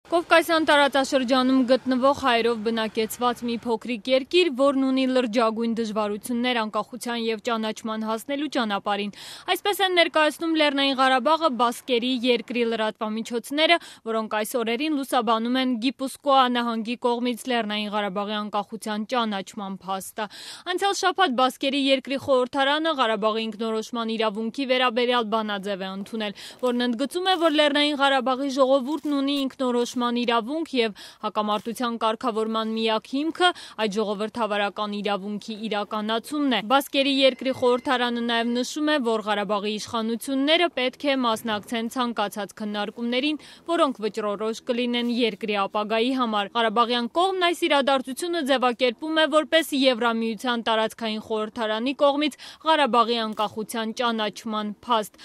Կովկասյան տարածաշրջանում գտնվող հայերով բնակեցված մի փոքրիկ երկիր, որն ունի լրջագույն դժվարություններ անկախության և ճանաչման հասնելու ճանապարհին։ Այսպես են ներկայացնում Լեռնային Ղարաբաղը բասկերի երկրի լրատվամիջոցները, որոնք այս օրերին լուսաբանում են Գիպուսկոա նահանգի կողմից Լեռնային Ղարաբաղի անկախության ճանաչման փաստը։ Անցյալ շաբաթ բասկերի երկրի խորհրդարանը Ղարաբաղի ինքնորոշման իրավունքի վերաբերյալ բանաձև է ընդունել, որն ընդգծում է, որ Լեռնային Ղարաբաղի ժողովուրդն ունի ինքնորոշման իրավունք և հակամարտության կարգավորման միակ հիմքը այդ ժողովրդավարական իրավունքի իրականացումն է։ Բասկերի երկրի խորհրդարանը նաև նշում է, որ Ղարաբաղի իշխանությունները պետք է մասնակցեն ցանկացած քննարկումներին, որոնք վճռորոշ կլինեն երկրի ապագայի համար։ Ղարաբաղյան կողմն այս իրադարձությունը ձևակերպում է որպես Եվրամիության տարածքային խորհրդարանի կողմից Ղարաբաղի անկախության ճանաչման փաստ։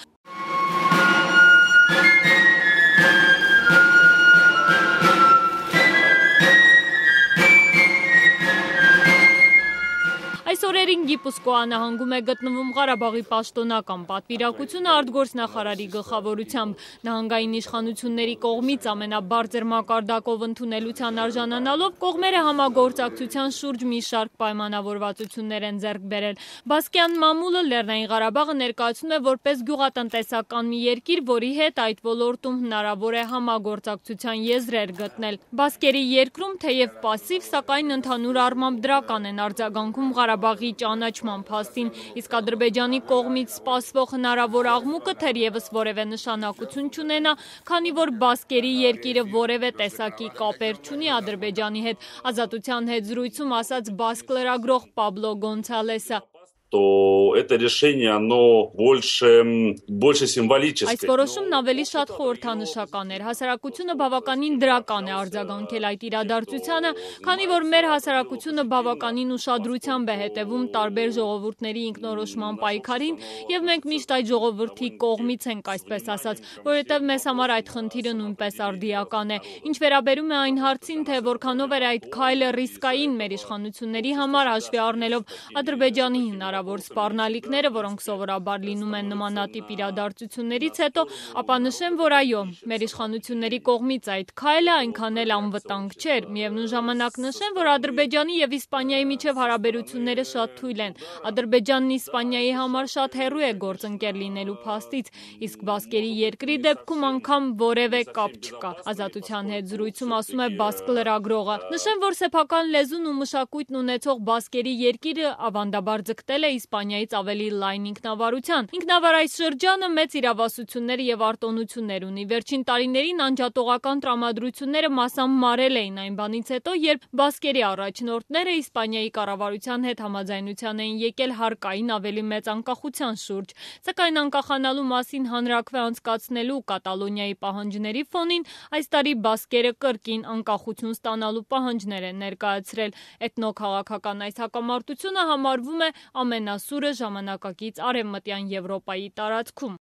Այս օրերին Գիպուսկոա նահանգում է գտնվում Ղարաբաղի պաշտոնական պատվիրակությունը արտգործնախարարի գլխավորությամբ։ Նահանգային իշխանությունների կողմից ամենաբարձր մակարդակով ընդունելության արժանանալով կողմերը համագործակցության շուրջ մի շարք պայմանավորվածություններ են ձեռք բերել։ Բասկյան մամուլը Լեռնային Ղարաբաղը ներկայացնում է որպես գյուղատնտեսական մի երկիր, որի հետ այդ ոլորտում հնարավոր է համագործակցության եզրեր գտնել։ Բասկերի երկրում թեև պասիվ, սակայն ընդհանուր առմամբ դրական են արձագանքում Ղարաբաղի ճանաչման փաստին, իսկ Ադրբեջանի կողմից սպասվող հնարավոր աղմուկը թերևս որևէ նշանակություն չունենա, քանի որ բասկերի երկիրը որևէ տեսակի կապեր չունի Ադրբեջանի հետ, Ազատության հետ զրույցում ասաց բասկ լրագրող Պաբլո Գոնցալեսը։ То это решение, оно больше символическое. Այս որոշումն ավելի շատ խորհրդանշական էր։ Հասարակությունը բավականին դրական է արձագանքել այդ իրադարձությանը, քանի որ մեր հասարակությունը բավականին ուշադրությամբ է հետևում տարբեր ժողովուրդների ինքնորոշման պայքարին, եւ մենք միշտ այդ ժողովրդի կողմից ենք, այսպես ասած, որովհետեւ մեզ համար այդ խնդիրը նույնպես արդիական է։ Ինչ վերաբերում է այն հարցին, թե որքանով էր այդ քայլը ռիսկային մեր իշխանությունների համար, հաշվի առնելով Ադրբեջանի հնարավոր սպառնալիքները, որոնք սովորաբար լինում են նմանատիպ իրադարձություններից հետո, ապա նշեմ, որ այո, մեր իշխանությունների կողմից այդ քայլը այնքան էլ անվտանգ չէր։ Միևնույն ժամանակ նշեմ, որ Ադրբեջանի եւ Իսպանիայի միջև հարաբերությունները շատ թույլ են։ Ադրբեջանն Իսպանիայի համար շատ հեռու է գործընկեր լինելու փաստից, իսկ բասկերի երկրի դեպքում անգամ որևէ կապ չկա։ Ազատության հետ զրույցում ասում է բասկ լրագրողը։ Նշեմ, որ սեփական լեզուն ու մշակույթն ունեցող բասկերի երկիրը ավանդաբար ձգտել է Իսպանիայից ավելի լայն ինքնավարության։ Ինքնավար այս շրջանը մեծ իրավասություններ եւ արտոնություններ ունի։ Վերջին տարիներին անջատողական տրամադրությունները մասամբ մարել էին այն բանից հետո, երբ բասկերի առաջնորդները Իսպանիայի կառավարության հետ համաձայնության էին եկել հարկային ավելի մեծ անկախության շուրջ։ Սակայն անկախանալու մասին հանրաքվե անցկացնելու Կատալոնիայի պահանջների ֆոնին այս տարի բասկերը կրկին անկախություն ստանալու պահանջներ են ներկայացրել։ Էթնոքաղաքական այս հակամարտությունը համարվում է ամենասուրը ժամանակակից Արևմտյան Եվրոպայի տարածքում։